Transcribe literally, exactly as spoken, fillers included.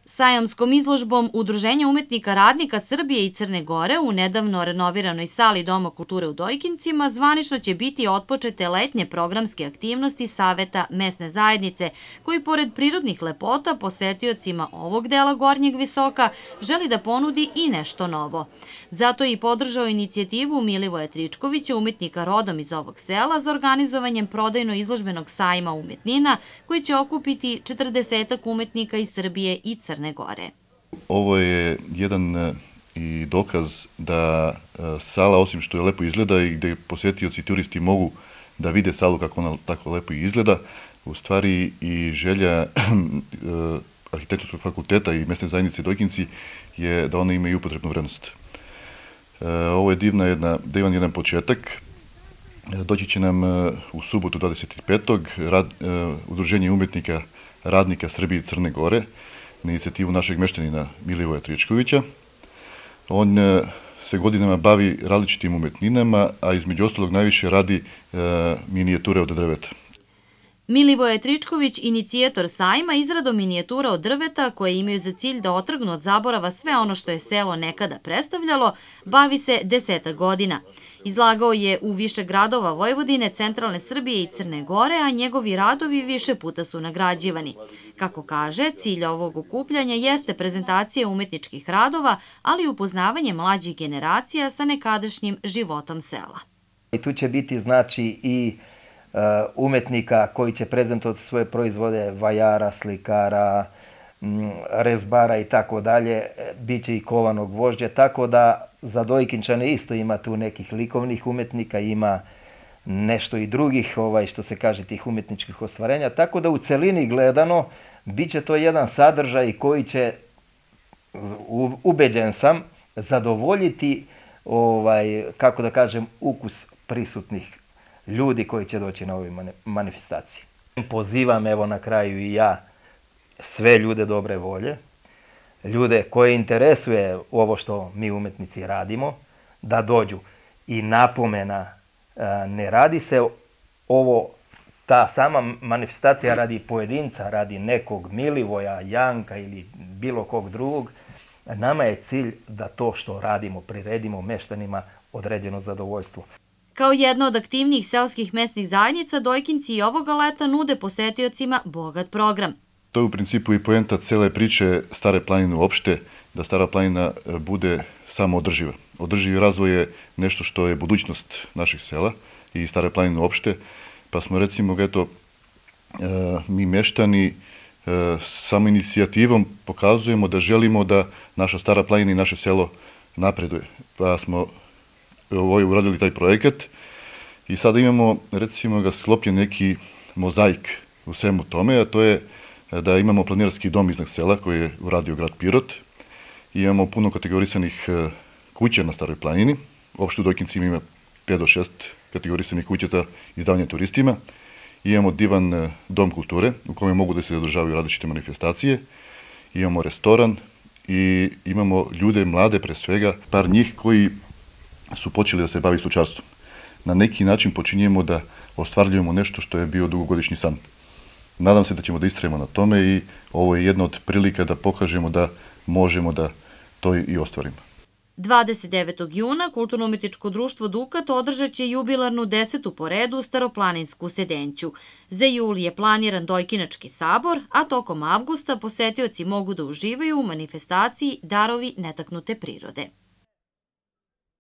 Sajamskom izložbom Udruženja umetnika radnika Srbije i Crne Gore u nedavno renoviranoj sali Doma kulture u Dojkincima zvanično će biti otpočete letnje programske aktivnosti Saveta mesne zajednice, koji pored prirodnih lepota posetiocima ovog dela Gornjeg Visoka želi da ponudi i nešto novo. Zato je i podržao inicijativu Milivoja Tričkovića, umetnika rodom iz ovog sela, za organizovanjem prodajno-izložbenog sajma umetnina koji će okupiti četrdesetak umetnika iz Srbije i Crne Gore. Ovo je jedan i dokaz da sala, osim što je lepo izgleda i gde posetioci i turisti mogu da vide salu kako ona tako lepo izgleda, u stvari i želja Arhitektonskog fakulteta i mesne zajednice Dojkinci je da ona ima i upotrebnu vrednost. Ovo je divna jedna, divan jedan početak. Doći će nam u subotu dvadeset petog Udruženje umetnika radnika Srbije i Crne Gore na inicijativu našeg meštanina Milivoja Tričkovića. On se godinama bavi različitim umetninama, a između ostalog najviše radi minijature od drveta. Milivoje Tričković, inicijator sajma, izradom minijatura od drveta koje imaju za cilj da otrgnu od zaborava sve ono što je selo nekada predstavljalo, bavi se desetak godina. Izlagao je u više gradova Vojvodine, centralne Srbije i Crne Gore, a njegovi radovi više puta su nagrađivani. Kako kaže, cilj ovog okupljanja jeste prezentacija umetničkih radova, ali i upoznavanje mlađih generacija sa nekadašnjim životom sela. I tu će biti znači i umetnika koji će prezentovati svoje proizvode, vajara, slikara, rezbara i tako dalje, bit će i kovanog vožđa, tako da za Dojkinčane isto ima tu nekih likovnih umetnika, ima nešto i drugih, što se kaže, tih umetničkih ostvarenja, tako da u celini gledano bit će to jedan sadržaj koji će, ubeđen sam, zadovoljiti, kako da kažem, ukus prisutnih ljudi koji će doći na ovoj manifestaciji. Pozivam evo na kraju i ja sve ljude dobre volje, ljude koje interesuje ovo što mi umetnici radimo, da dođu. I napomena, ne radi se ovo, ta sama manifestacija radi pojedinca, radi nekog Milivoja, Janka ili bilo kog drugog. Nama je cilj da to što radimo priredimo meštanima određeno zadovoljstvo. Kao jedna od aktivnijih seoskih mesnih zajednica, Dojkinci i ovoga leta nude posetiocima bogat program. To je u principu i poenta cele priče Stare planine uopšte, da Stara planina bude samo održiva. Održivi razvoj je nešto što je budućnost naših sela i Stare planine uopšte, pa smo recimo, eto, mi meštani samo inicijativom pokazujemo da želimo da naša Stara planina i naše selo napreduje. Pa smo uradili taj projekat i sada imamo, recimo, ga sklopljen neki mozaik u svemu tome, a to je da imamo planinarski dom iznad sela koji je uradio grad Pirot. Imamo puno kategorisanih kuća na Staroj planini. Uopšte u Dojkincima ima pet do šest kategorisanih kuća za izdavanje turistima. Imamo divan dom kulture u kome mogu da se održavaju različite manifestacije. Imamo restoran i imamo ljude, mlade pre svega, par njih koji su počeli da se bavi stočarstvom. Na neki način počinjemo da ostvarljujemo nešto što je bio dugogodišnji san. Nadam se da ćemo da istrajemo na tome i ovo je jedna od prilika da pokažemo da možemo da to i ostvarimo. dvadeset devetog juna Kulturno-umetničko društvo Dukat održat će jubilarnu desetu po redu staroplaninsku sedenću. Za jul je planiran Dojkinački sabor, a tokom avgusta posetioci mogu da uživaju u manifestaciji Darovi netaknute prirode.